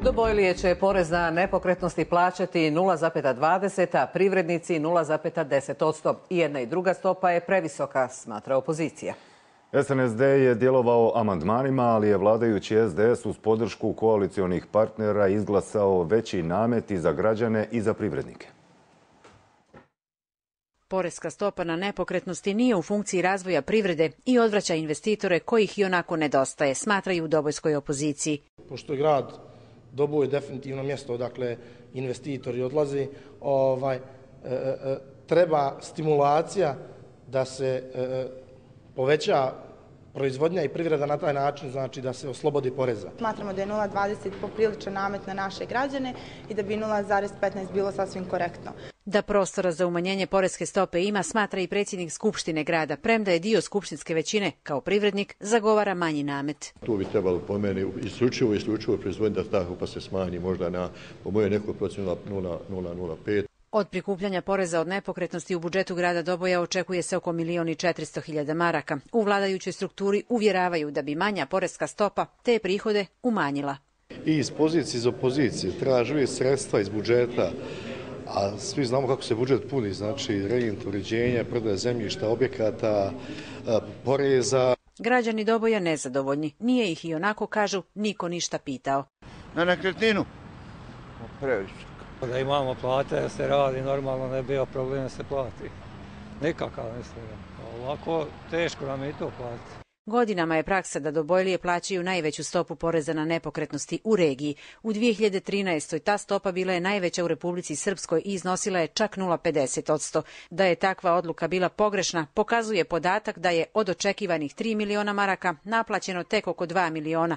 Dobojlije će porez na nepokretnosti plaćati 0,20, a privrednici 0,10%. I jedna i druga stopa je previsoka, smatra opozicija. SNSD je djelovao amandmanima, ali je vladajući SDS uz podršku koalicionih partnera izglasao veći namet i za građane i za privrednike. Poreska stopa na nepokretnosti nije u funkciji razvoja privrede i odvraća investitore kojih i onako nedostaje, smatraju u dobojskoj opoziciji. Pošto je grad Doboj definitivno mjesto odakle investitori odlaze, treba stimulacija da se poveća proizvodnja i privreda na taj način, znači da se oslobodi poreza. Smatramo da je 0,20 popriličan namet na naše građane i da bi 0,15 bilo sasvim korektno. Da prostora za umanjenje poreske stope ima, smatra i predsjednik Skupštine grada, premda je dio skupštinske većine, kao privrednik, zagovara manji namet. Tu bi trebalo po meni isključivo proizvodnja da pa se smanji možda na, po mojoj nekoj procjenu 0,05. Od prikupljanja poreza od nepokretnosti u budžetu grada Doboja očekuje se oko 1.400.000 maraka. U vladajućoj strukturi uvjeravaju da bi manja poreska stopa te prihode umanjila. I iz pozicije iz opozicije traže sredstva iz budžeta, a svi znamo kako se budžet puni, znači rejent, uređenja, prodaja zemljišta, objekata, poreza. Građani Doboja nezadovoljni. Nije ih i onako, kažu, niko ništa pitao. Na nekretninu? Previše. Da imamo plate, da se radi, normalno ne bi bio problem da se plati. Nikakav mislim. Ovako teško nam je i to platiti. Godinama je praksa da Dobojlije plaćaju najveću stopu poreza na nepokretnosti u regiji. U 2013. ta stopa bila je najveća u Republici Srpskoj i iznosila je čak 0,50%. Da je takva odluka bila pogrešna, pokazuje podatak da je od očekivanih 3 miliona maraka naplaćeno tek oko 2 miliona.